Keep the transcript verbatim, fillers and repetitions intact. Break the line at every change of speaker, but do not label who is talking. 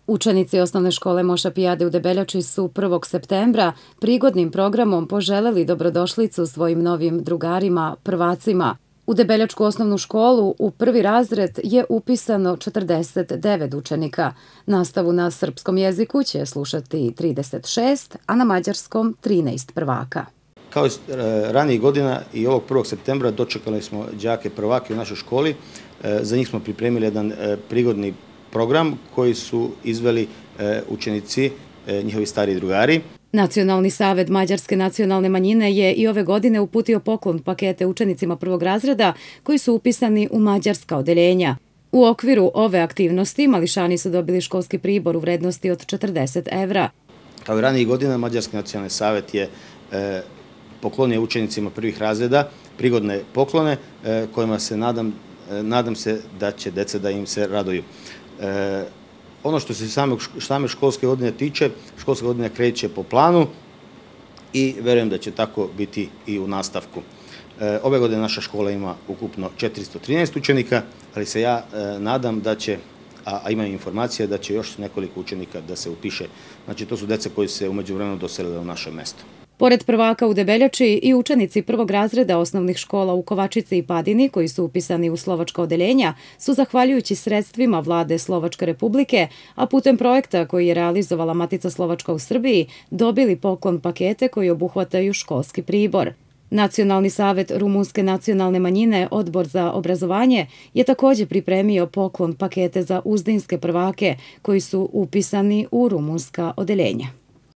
Učenici osnovne škole Moša Pijade u Debeljači su prvog septembra prigodnim programom poželeli dobrodošlicu svojim novim drugarima, prvacima. U Debeljačku osnovnu školu u prvi razred je upisano četrdeset devet učenika. Nastavu na srpskom jeziku će slušati trideset šest, a na mađarskom trinaest prvaka.
Kao i ranijih godina i ovog prvog septembra dočekali smo đake prvake u našoj školi. Za njih smo pripremili jedan prigodni program koji su izveli učenici, njihovi stariji drugari.
Nacionalni savet Mađarske nacionalne manjine je i ove godine uputio poklon pakete učenicima prvog razreda koji su upisani u mađarska odeljenja. U okviru ove aktivnosti mališani su dobili školski pribor u vrednosti od četrdeset evra.
Kao i ranijih godina, Mađarski nacionalni savet je poklonio učenicima prvih razreda prigodne poklone kojima se nadam, nadam se da će deca da im se raduju. Ono što se same školske godine tiče, školska godina kreće po planu i verujem da će tako biti i u nastavku. Ove godine naša škola ima ukupno četiristo trinaest učenika, ali se ja nadam da će, a imam informacije da će još nekoliko učenika da se upiše. Znači, to su deca koji se u međuvremenu doselile u naše mesto.
Pored prvaka u Debeljači i učenici prvog razreda osnovnih škola u Kovačici i Padini, koji su upisani u slovačka odeljenja, su zahvaljujući sredstvima Vlade Slovačke Republike, a putem projekta koji je realizovala Matica Slovačka u Srbiji, dobili poklon pakete koji obuhvataju školski pribor. Nacionalni savet Rumunske nacionalne manjine, Odbor za obrazovanje, je također pripremio poklon pakete za uzdinske prvake koji su upisani u rumunska odeljenja.